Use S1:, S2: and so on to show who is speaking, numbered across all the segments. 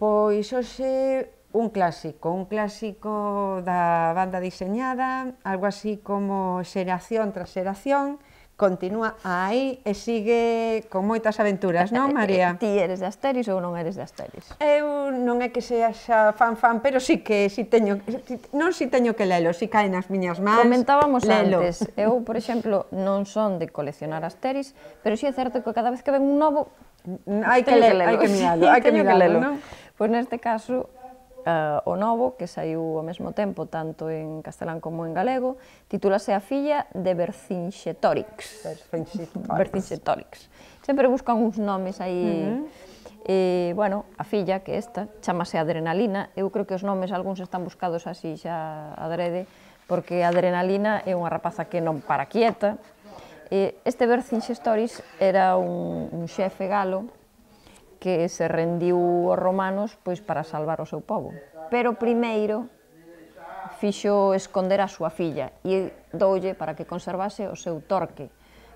S1: Pois hoxe un clásico da banda diseñada, algo así como xeración tras xeración, continúa aí e sigue con moitas aventuras, non, María?
S2: Ti eres de Asteris ou non eres de Asteris?
S1: Eu non é que sea xa fan, pero sí que teño que lelo, si cae nas miñas mans,
S2: Comentábamos
S1: lelo.
S2: antes, eu, por exemplo, non son de coleccionar Asteris, pero sí é certo que cada vez que ven un novo,
S1: hai que miralo, non?
S2: Pois neste caso, o novo, que saiu ao mesmo tempo, tanto en castelán como en galego, titúlase A filla de Vercingetorix. Vercingetorix. Sempre buscan uns nomes aí. Bueno, a filla, que esta, chamase Adrenalina. Eu creo que os nomes, algúns están buscados así xa adrede, porque Adrenalina é unha rapaza que non para quieta. Este Vercingetorix era un xefe galo que se rendiu aos romanos pois para salvar o seu pobo. Pero primeiro fixo esconder a súa filla e doulle para que conservase o seu torque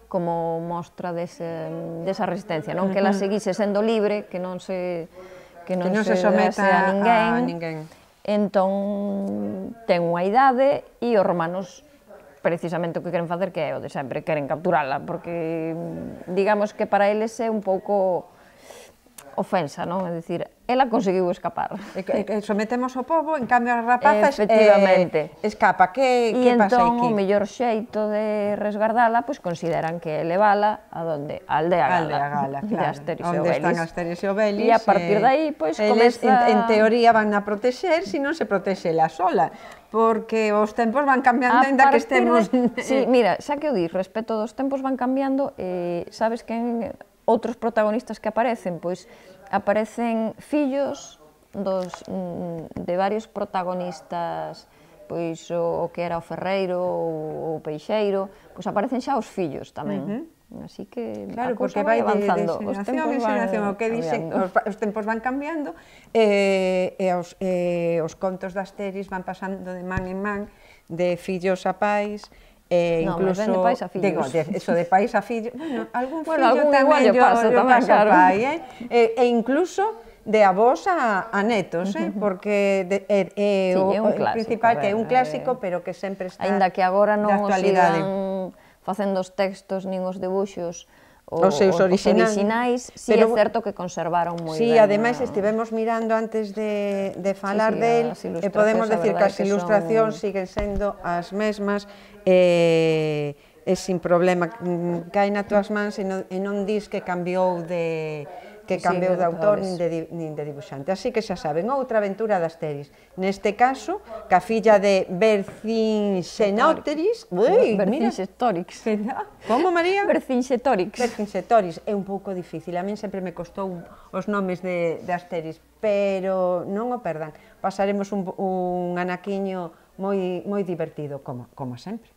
S2: como mostra desa resistencia, non que ela seguise sendo libre, que non se someta a ninguén. Entón ten unha idade e os romanos precisamente o que queren facer que é o de sempre, queren capturala, porque digamos que para eles é un pouco ofensa, non? É dicir, ela conseguiu escapar.
S1: Sometemos o pobo, en cambio as rapazas escapa. Que pasa aquí? E
S2: entón o mellor xeito de resgardala, pois consideran que é levala a aldea Gala, de Asteris e Obelix.
S1: Onde están Asteris e Obelix.
S2: E a partir de aí, pois, comeza...
S1: En teoría van a protexer, se non se protexe ela sola, porque os tempos van cambiando, ainda que estemos...
S2: Sí, mira, xa que o dis, respecto dos tempos van cambiando, sabes que outros protagonistas que aparecen, pois aparecen fillos de varios protagonistas, pois o que era o ferreiro ou o peixeiro, pois aparecen xa os fillos tamén. Así que a cousa vai avanzando, os tempos van cambiando.
S1: Os tempos van cambiando e os contos de Asteris van pasando de man en man, de fillos a pais,
S2: incluso de pais a fillos.
S1: Digo, eso de pais a fillos, algún
S2: fillo
S1: tamén
S2: lle pasa tamén, claro.
S1: E incluso de avós a netos, porque o principal que é un clásico, pero que sempre está de actualidade.
S2: Aínda que agora non o sigan facendo os textos nin os debuxos os
S1: seus
S2: orixinais, si é certo que conservaron moi ben.
S1: Si, ademais estivemos mirando antes de falar del, e podemos decir que as ilustracións siguen sendo as mesmas, e sin problema, caen a túas mans e non dis que cambiou de autor nin de dibuixante. Así que xa saben, outra aventura de Asteris. Neste caso, ca filla de Vercingetorix.
S2: Vercingetorix.
S1: Como, María?
S2: Vercingetorix.
S1: Vercingetorix. É un pouco difícil. A min sempre me costou os nomes de Asteris, pero non o perdan. Pasaremos un anaquiño moi divertido, como sempre.